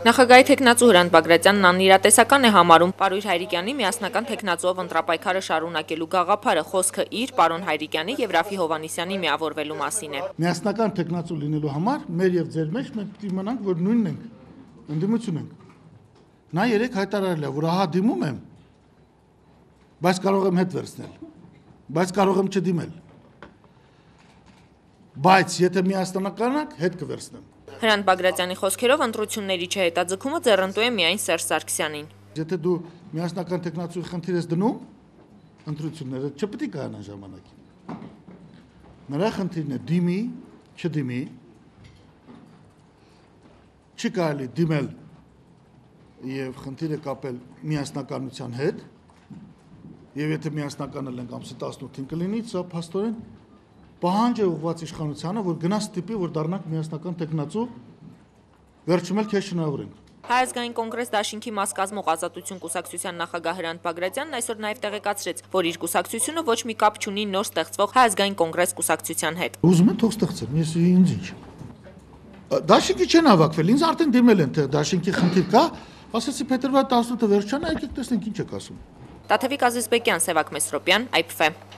Նախագահի թեկնածու Հրանտ Բագրատյանն անիրատեսական է համարում Պարույր Հայրիկյանի միասնական թեկնածուով ընտրապայքարը շարունակելու գաղափարը, խոսքը իր, պարոն Հայրիկյանի եւ Ռաֆի Հովհաննիսյանի միավորվելու մասին է։ Միասնական թեկնածու լինելու համար մեր եւ ձեր մեջ մենք պիտի իմանանք, որ նույնն ենք, ընդդիմություն ենք։ Նա երեք հայտարարել է, որ ահա դիմում եմ, բայց կարող եմ հետ վերցնել, բայց կարող եմ չդիմել։ Բայց եթե միասնական եք, հետ կվերցնեմ։ Հրանտ Բագրատյանի խոսքերով ընտրությունների չհետաձգումը ձեռնտու է միայն Սերժ Սարգսյանին։ Եթե դու միասնական թեկնածուի խնդիր ես դնում, ընտրությունները չպետք է կայանան ժամանակին։ Նրա խնդիրն է դիմի, չդիմի, չի կարելի դիմել եւ խնդիրը կապել միասնականության հետ, եւ եթե միասնականը ենք ամսի 18-ին կլինի, սա փաստորեն պահանջ է ուղղված իշխանությանը, որ գնա ստիպի, որ դառնանք միասնական թեկնածու, վերջում էլ քեզ շնորհավորենք։ Հայ ազգային կոնգրես դաշինքի մաս կազմող Ազատություն կուսակցության նախագահ Հրանտ Բագրատյանն այսօր նաև տեղեկացրեց, որ իր կուսակցությունը ոչ մի կապ չունի նոր ստեղծվող Հայ ազգային կոնգրես կուսակցության հետ։ Ուզում են թող ստեղծեն, ես ինձ ինչ։ Դաշինքի չեն հավաքվել, ինձ արդեն դիմել են, թե դաշինքի խնդիր կա, ասեցի փետրվարի 18-ը վերջանա, եկեք տեսնենք ինչ եք ասում։ Տաթևիկ Ազիզբեկյան, Սևակ Մեսրոպյան, IPF։